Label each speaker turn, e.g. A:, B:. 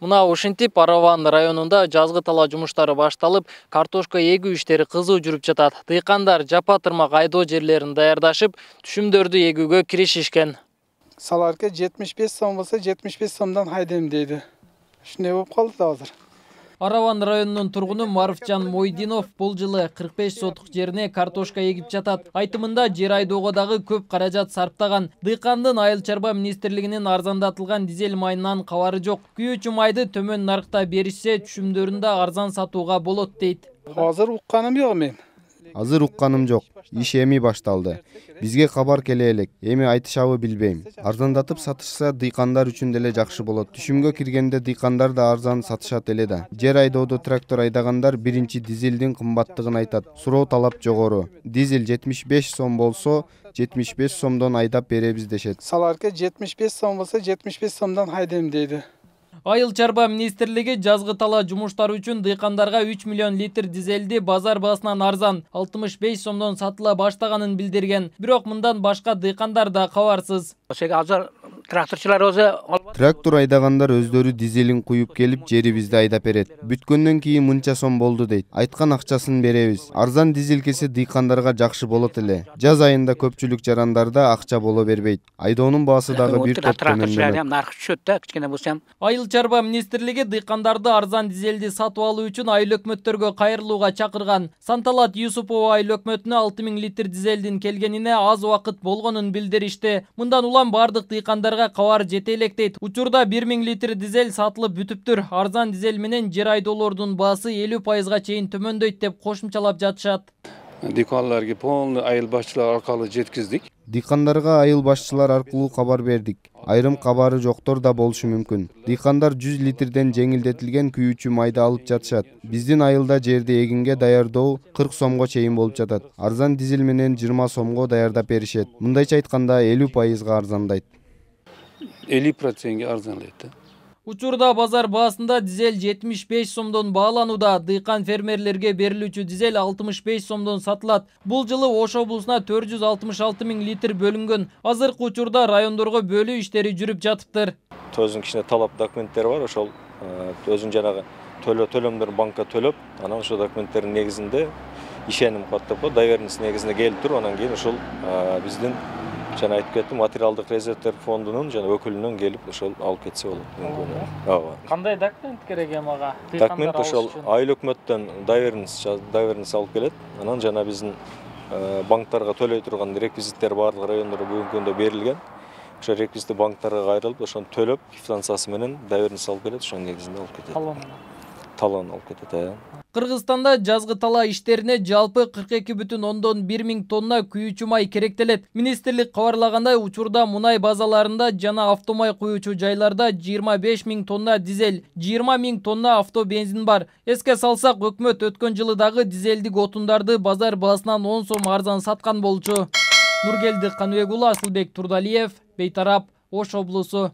A: Мына ушинтип Араван районунда жазгы тала жумуштары башталып, картошка эгүү иштери кызуу жүрүп жатат. Дыйкандар жапа тырмак айдоо жерлерин даярдашып, түшүмдөрдү эгүүгө киришишкен.
B: Саларка 75 сом болсо 75 сомдон айдайм дейди. Ушундай болуп калды да азыр.
A: Араван районунун тургуну Марфжан Мойдинов бул жылы 45 сотук жерине картошка эгип жатат. Айтымында жер айдоого дагы көп каражат сарптаган. Дыйкандын Айыл чарба министрлигинин арзандатылган дизель майынан кабары жок. Күйүүчү майды төмөн наркта беришсе, түшүмдөрүн да арзан сатууга болот дейт.
B: Азыр укканым жок мен.
C: Азыр укканым жок. Иш эми башталды. Бизге кабар келе элек. Эми айтышабы билбейм. Арзандатып сатышса дыйкандар үчүн деле жакшы болот. Түшүмгө киргенде дыйкандар да арзан сатышат эле да. Жер айдоодо трактор айдагандар биринчи дизелдин кымбаттыгын айтат. Суроо талап жогору. Дизель 75 сом болсо, 75 сомдон айдап беребиз дешет.
B: Саларка 75 сом болсо 75 сомдон айдайм дейди.
A: Айыл чарба министрлиги жазгы тала жумуштары үчүн дыйкандарга 3 миллион литр дизелди базар баасынан арзан 65 сомдон сатыла баштаганын билдирген. Бирок мындан башка дыйкандар да кабарсыз.
D: Азыр тракторчулар өзү
C: Трактор айдагандар өздөрү дизелин куюп келип жерибизди айдап берет. Бүткөндөн кийин мынча сом болду дейт. Айткан акчасын беребиз. Арзан дизель келсе дыйкандарга жакшы болот эле. Жаз айында көпчүлүк жарандарда акча боло бербейт. Айдоонун баасы дагы бир топ төмөндөнөт.
D: Наркы түшөт да, кичкене болсо.
A: Айыл чарба министрлиги дыйкандарды арзан дизелди сатып алуу үчүн айыл өкмөттөргө кайрылууга чакырган. Санталат Юсупова айыл өкмөтүнө 6000 литр дизелдин келгенине аз убакыт болгонун билдиришти. Мындан улам бардык дыйкандарга кабар жете элек дейт. Учурда 1000 литр дизель сатылып бүтүптүр. Арзан дизель менен жер айдоолордун баасы 50%га чейин төмөндөйт деп кошумчалап жатышат.
E: Дыйкандарга полный айыл башчылар аркылуу жеткиздик.
C: Дыйкандарга айыл башчылар аркылуу кабар бердик. Айрым кабары жоктор да болушу мүмкүн. Дыйкандар 100 литрден жеңилдетилген күйүүчү майды алып жатышат. Биздин айылда жерди эгинге даярдоо 40 сомго чейин болуп жатат. Арзан дизель менен 20 сомго даярдап беришет. Мындайча айтканда 50%га арзандайт.
E: 50%ге арзанлайт.
A: Учурда базар баасында дизель 75 сомдон бааланууда. Дыйкан фермерлерге берилүүчү дизель 65 сомдон сатылат. Бул жылы Ош облусуна 466 000 литр бөлүнгөн. Азыркы учурда райондорго бөлүү иштери жүрүп жатыптыр.
F: Өзүнүн кичине талап документтери бар, ошол өзүнүн жанагы төлөмдөрүн банкка төлөп, анан ошол документтердин негизинде ишеним каттап, доверенность негизинде келип туруп, анан кийин ошол биздин жана айтып кеттим, материалдык резервдер фондунун жана өкүлүнөн келип ошол алып кетсе болот. Ооба.
A: Кандай документ керек эми ага?
F: Документ ошол айыл өкмөттөн доверенность алып келет. Анан жана биздин банктарга төлөй турган реквизиттер барлык райондордо бүгүнкү күндө берилген. Ошо реквизитти банктарга кайрылып, ошону төлөп, квитанциясы менен доверенность алып келет, ошонун негизинде алып кетет. Талон алып кетет.
A: Кыргызстанда жазгы тала иштерине жалпы 42,1 миң тонна күйүүчү май керектелет. Министрлик кабарлагандай, учурда мунай базаларында жана автомай куюучу жайларда 25 миң тонна дизель, 20 миң тонна автобензин бар. Эске салсак, өкмөт өткөн жылы дагы дизелдик отундарды базар баасынан 10 сом арзан саткан болчу. Нургелди Каныбек уулу, Асылбек Турдалиев, Бейтарап, Ош облусу.